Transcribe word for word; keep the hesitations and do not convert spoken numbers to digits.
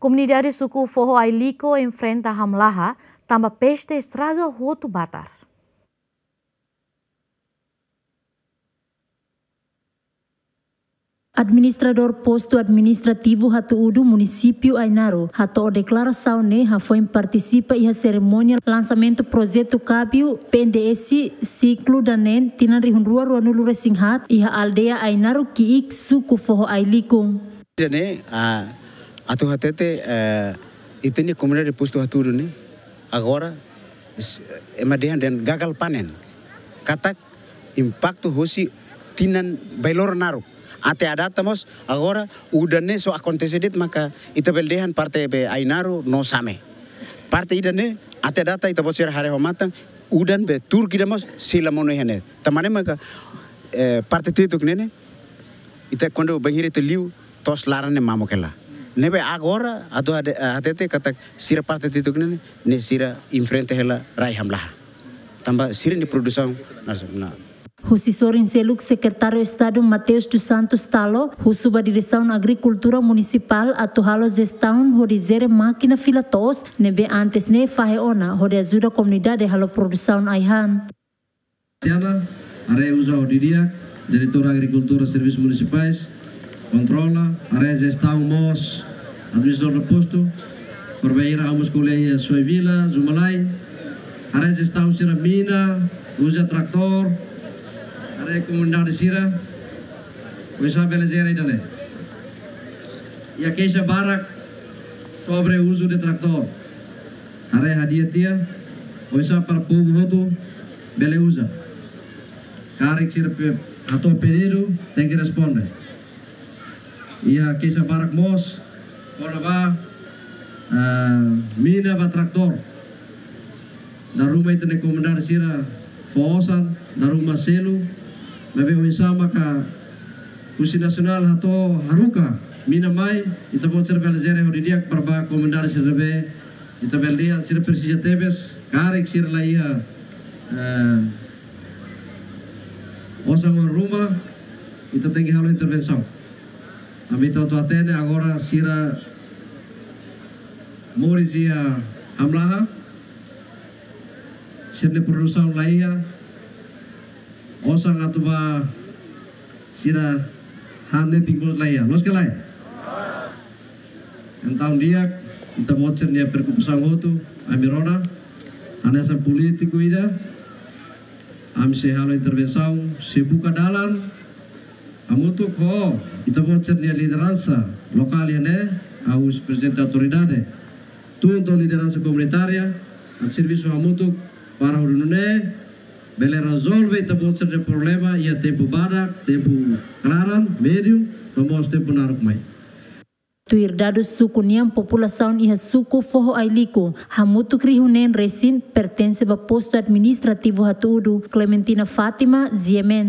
Komunidade suku Foho Ailico enfrenta hamlaha, tanba peste estraga hotu batar. Administradór Postu Administrativu Hatu-Udu, Munisípiu Ainaro, hato'o deklarasaun ne'e hafoin partisipa iha serimónia lansamentu projetu kabiu P N D S siklu daneen tinan rihun rua ruanulu resin haat iha aldeia Ainaro Ki'ik, suku Foho Ailico. Ida-ne'e, ah, atu hatete, eh, ita-nia komunidade Postu Hatu-Udu ne'e, agora, s-, ema dehan dehan gagal panen. Katak impaktu hosi tinan bailoro naruk. Até à data mós, agora, udan ne'e só akontese de'it maka ita bele dehan parte be Ainaro no Same. Parte ida-ne'e, até à data ita-boot sira haree ho matan, udan be tuur ida mós sei la monu iha ne'e. Tanba ne'e maka, eh, parte Tietuk ne'e ne'e, ita kuandu bainhira ita liu, to'os laran ne'e mamuk hela. Ne'ebé agora, atu hade-, eh, hatete katak sira parte Tietuk ne'e ne'e, ne'e sira enfrenta hela rai hamlaha. Tanba sira-nia produsaun, nas-, na. Husi sorin seluk, Sekretáriu Estadu Mateus dos Santos Talo husu ba Diresaun Agrikultura Munisipál atu halo jestaun hodi jere mákina fila to'os ne'ebé antes ne'e fahe ona hodi ajuda komunidade halo produsaun ai-han. Tiana, haree uza ho didi'ak, Diretór Agrikultura Servisus Munisipais, kontrola, haree jestaun mós, administradór postu, porbeira amus koleia Soivila, Zumalai, haree jestaun sira mina, uza tratór, haree komunidade sira, oinsá bele jere ida-ne'e. Iha keixa barak sobre uzu de tratór. Haree hadi'a tiha, oinsá para povu hotu bele uza. Karik sira pe-, hato'o pedidu, tenke responde. Iha keixa barak mós, kona-ba, ah, mina ba tratór. Dala ruma ita-nia komunidade sira fó osan, dala ruma selu, maibé oinsá maka husi nasionál hato'o haruka mina mai, ita-boot sira bele jere ho didi'ak para ba komunidade sira ne'ebé, ita bele dehan sira presiza tebes, karik sira la iha, eh, osan oan ruma, ita tenke halo intervensaun. Ami atu hatene agora sira moris iha hamlaha, sira-nia produsaun la iha, osan atu ba sira han netik mós la iha. Loos ka lae? Entaun di'ak, ita-boot sira-nia preokupasaun hotu, ami rona, hanesan polítiku ida, ami sei halo intervensaun, sei buka dalan, hamutuk ho ita-boot sira-nia lideransa lokál iha ne'e, ha'u husi prezidente autoridade, tun to'o lideransa komunitária, atu servisu hamutuk para hodi nune'e bele rezolve ita-boot sira-nia problema iha tempu badak, tempu klaran, médiu, no mós tempu naruk mai. Tuir dadus suku nian, populasaun iha suku Foho Ailico hamutuk rihun neen resin pertense ba postu administrativu Hatu-Udu. Clementina Fátima, G M N.